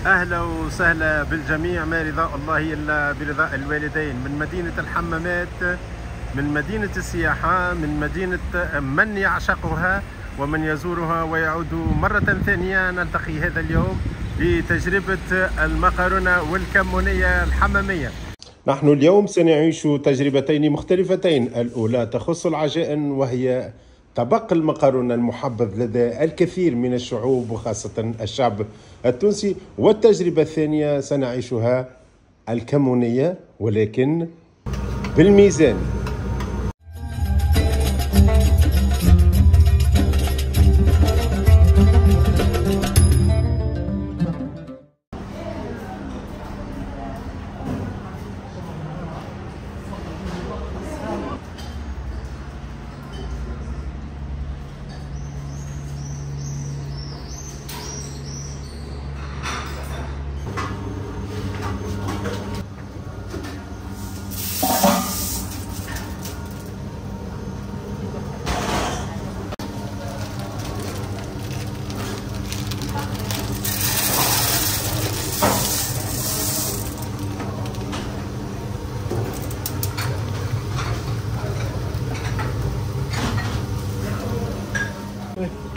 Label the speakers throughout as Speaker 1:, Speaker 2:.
Speaker 1: أهلا وسهلا بالجميع، ما رضاء الله إلا برضاء الوالدين. من مدينة الحمامات، من مدينة السياحة، من مدينة من يعشقها ومن يزورها ويعود مرة ثانية. نلتقي هذا اليوم لتجربة المقارونة والكمونية الحمامية. نحن اليوم سنعيش تجربتين مختلفتين. الأولى تخص العجائن، وهي طبق المقارونة المحبب لدى الكثير من الشعوب وخاصة الشعب التونسي. والتجربة الثانية سنعيشها الكمونية ولكن بالميزان.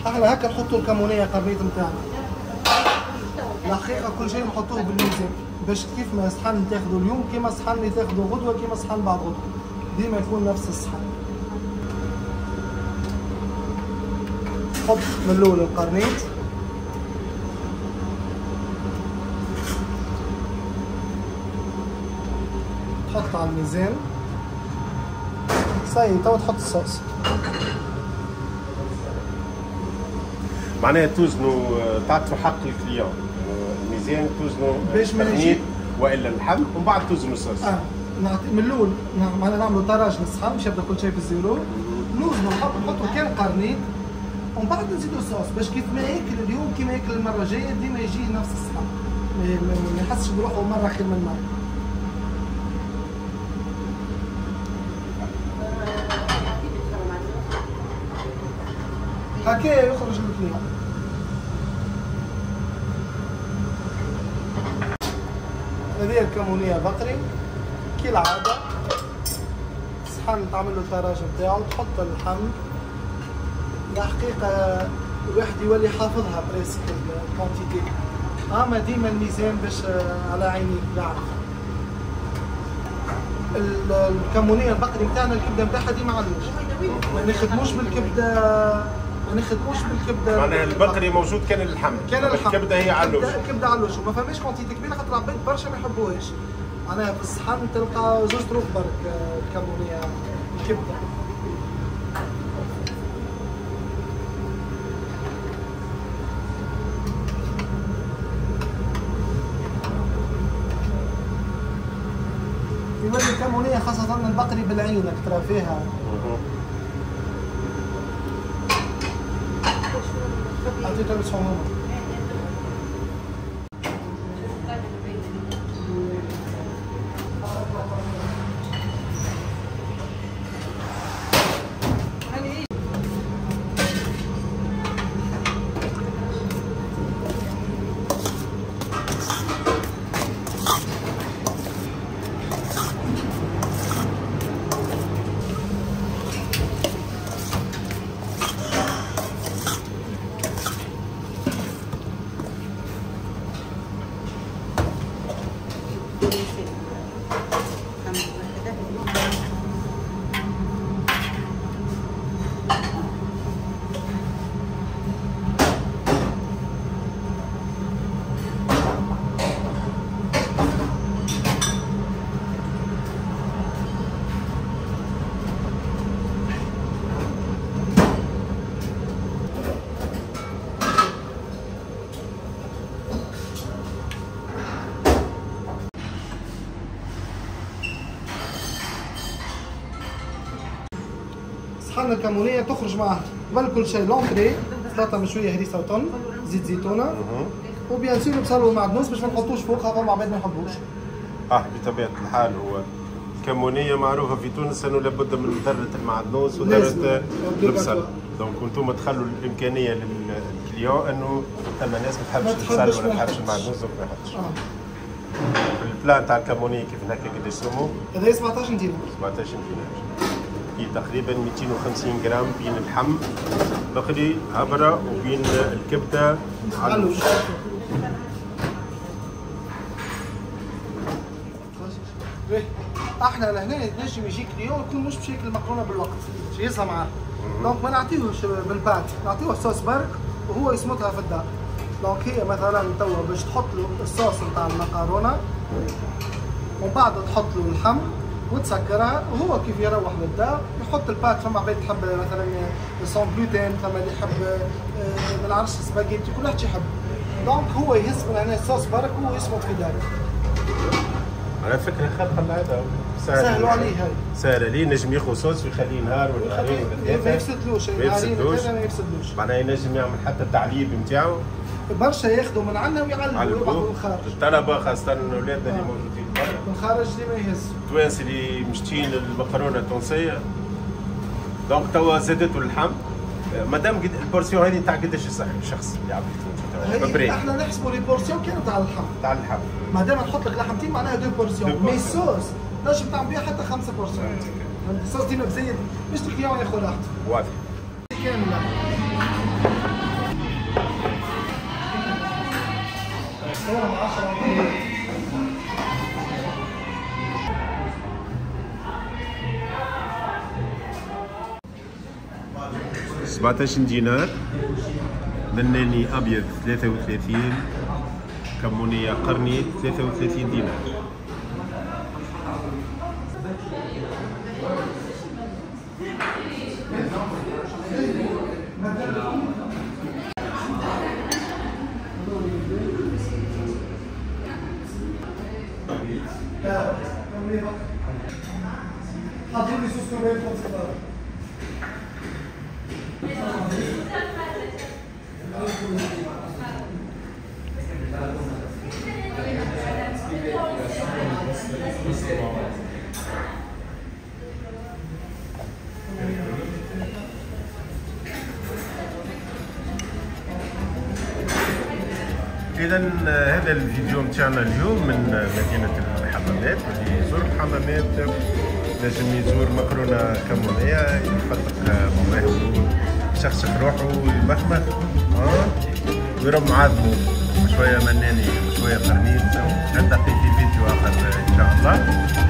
Speaker 2: احنا هكا نحطوا الكمونيه قرنيط نتاعنا. الحقيقة كل شيء نحطوه بالميزان باش كيف ما صحن تاخذوا اليوم كيما صحن اللي تاخذوا غدوه كيما صحن بعد غدوه، ديما يكون نفس الصحن. حط من الاول القرنيط، تحط على الميزان صاي. توا تحط الصوص،
Speaker 1: معناها توزنوا، تعطوا حق ال client الميزان، توزنوا
Speaker 2: باش ما يجي
Speaker 1: والا اللحم ومن بعد توزنوا الصوص.
Speaker 2: نعطي من الاول، معناها نعملوا tarage للصحن باش يبدا كل شيء في ال zéro. نوزنوا نحطوا كان قرنيط ومن بعد نزيدوا الصوص باش كيف ما ياكل اليوم كيما ياكل المرة الجاية ديما يجي نفس الصحن، ما يحسش بروحه مرة خير من مرة. هكا يخرج ال client. هذه الكمونية بقري كالعادة، صحن تعمل له ال tarage نتاعو، تحط اللحم. الحقيقة الواحد يولي حافظها presque ال quantité، اما ديما الميزان باش على عينيك يعرف. الكمونية البقري نتاعنا الكبدة نتاعها ديما علوش، ما نخدموش بالكبدة، ما نخدموش بالكبده.
Speaker 1: معناها البقري موجود كان اللحم،
Speaker 2: كان اللحم،
Speaker 1: الكبده هي علوش،
Speaker 2: الكبده علوش وما فماش quantité كبيرة خاطر العباد برشا ما يحبوهاش. معناها في الصحن تلقى زوج طروف برك الكمونيه الكبده. يولي الكمونيه خاصة البقري بالعين ترى فيها. عطيتها بصحون. صحن الكمونية تخرج معها قبل كل شيء l'entrée، سلطة مشوية هريسة وطن، زيت زيتونة، و bien sûr بصل ومعدنوس باش ما نحطوش فوقها فما عباد ما يحبوش.
Speaker 1: بطبيعة الحال هو الكمونيه معروفة في تونس انه لابد من ذره المعدنوس وذره البصل، donc انتم تخلوا الامكانية لل client انه ثم ناس ما تحبش البصل ولا ما تحبش المعدنوس donc ما يحطش. ال plat تاع الكمونيه كيف هكا قداش سمو؟
Speaker 2: هذا 17 دينار.
Speaker 1: 17 دينار هي تقريبا 250 غرام بين اللحم بقري هبره وبين الكبده علوش.
Speaker 2: احنا لهنا نجم يجيك client يكون مش باش ياكل المقرونه بالوقت، يهزها معاه. donc ما نعطيوش بال pâte، نعطيوه صوص برك وهو يسمطها في الدار. donc هي مثلا توا باش تحط له الصوص نتاع المقرونه ومن بعد تحط له اللحم وتسكرها، وهو كيف يروح للدار يحط ال pâte. فما عباد تحب مثلا sans gluten، فما اللي يحب ما نعرفش سباجيتي، كل واحد يحب. donc هو يهز من هنا الصوص برك ويسمط في داره.
Speaker 1: على فكرة خلق العادة
Speaker 2: سهلوا عليه، هاي
Speaker 1: سهل عليه، نجم ياخذ صوص ويخليه نهار ولا نهارين ولا ثلاثة،
Speaker 2: ما يفسدلوش، ما يفسدلوش، ما يفسدلوش.
Speaker 1: معناها ينجم يعمل حتى التعليب نتاعو،
Speaker 2: برشا ياخذوا من عندنا ويعلبوا من الخارج.
Speaker 1: الطلبة خاصة اولادنا اللي موجودين برا
Speaker 2: من الخارج ديما يهزوا،
Speaker 1: التوانسة اللي مشتين المقرونه التونسية. donc توا زادتوا اللحم. مادام قد ال portion هذه تاع قداش الشخص اللي عبد
Speaker 2: في احنا نحسبوا les portions كانوا تاع اللحم،
Speaker 1: تاع اللحم.
Speaker 2: مادام تحط لك لحمتين معناها deux portions، mais ال sauce تنجم تعمل بها حتى 5 portions. الصوص ديما بزايد باش ال client ياخذ راحته.
Speaker 1: واضح.
Speaker 2: كاملة. صورة 10.
Speaker 1: 17 دينار، مناني ابيض 33، كمونيه قرني 33 دينار. إذا هذا الفيديو متاعنا اليوم من مدينة الحمامات. اللي يزور الحمامات نجم يزور مقرونة كمونية، يفتق مواهبه، يشخشخ روحه ويمخمخ ويرم عظمه شوية مناني شوية قرنيط. نلتقي في فيديو آخر إن شاء الله.